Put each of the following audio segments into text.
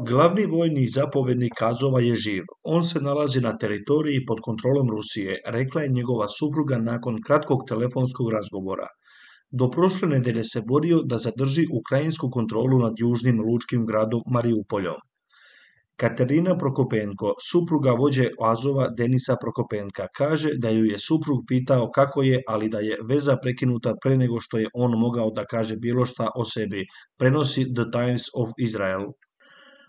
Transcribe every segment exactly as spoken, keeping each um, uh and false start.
Glavni vojni zapovjednik Azova je živ. On se nalazi na teritoriji pod kontrolom Rusije, rekla je njegova supruga nakon kratkog telefonskog razgovora. Do prošle nedelje se borio da zadrži ukrajinsku kontrolu nad južnim lučkim gradom Mariupoljom. Katerina Prokopenko, supruga vođe Azova Denisa Prokopenka, kaže da ju je suprug pitao kako je, ali da je veza prekinuta pre nego što je on mogao da kaže bilo šta o sebi, prenosi The Times of Israel.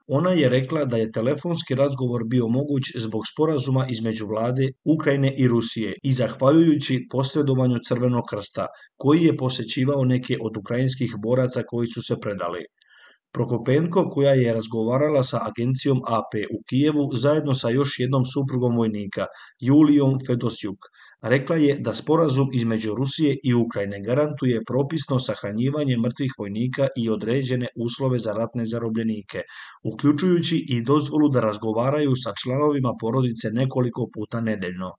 Ona je rekla da je telefonski razgovor bio moguć zbog sporazuma između vlade Ukrajine i Rusije i zahvaljujući posredovanju Crvenog krsta, koji je posećivao neke od ukrajinskih boraca koji su se predali. Prokopenko, koja je razgovarala sa agencijom A P u Kijevu zajedno sa još jednom suprugom vojnika, Julijom Fedosjuk, rekla je da sporazum između Rusije i Ukrajine garantuje propisno sahranjivanje mrtvih vojnika i određene uslove za ratne zarobljenike, uključujući i dozvolu da razgovaraju sa članovima porodice nekoliko puta nedeljno.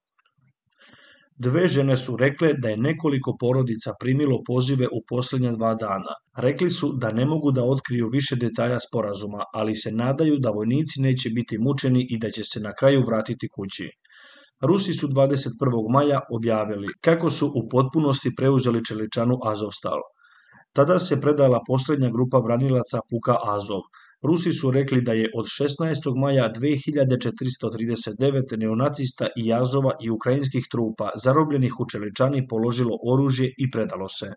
Dve žene su rekle da je nekoliko porodica primilo pozive u posljednja dva dana. Rekli su da ne mogu da otkriju više detalja sporazuma, ali se nadaju da vojnici neće biti mučeni i da će se na kraju vratiti kući. Rusi su dvadeset prvog maja objavili kako su u potpunosti preuzeli čeličanu Azovstal. Tada se predala posljednja grupa branilaca puka Azov. Rusi su rekli da je od šesnaestog maja dve hiljade četiristo trideset devet neonacista i Azova i ukrajinskih trupa zarobljenih u čeličani položilo oružje i predalo se.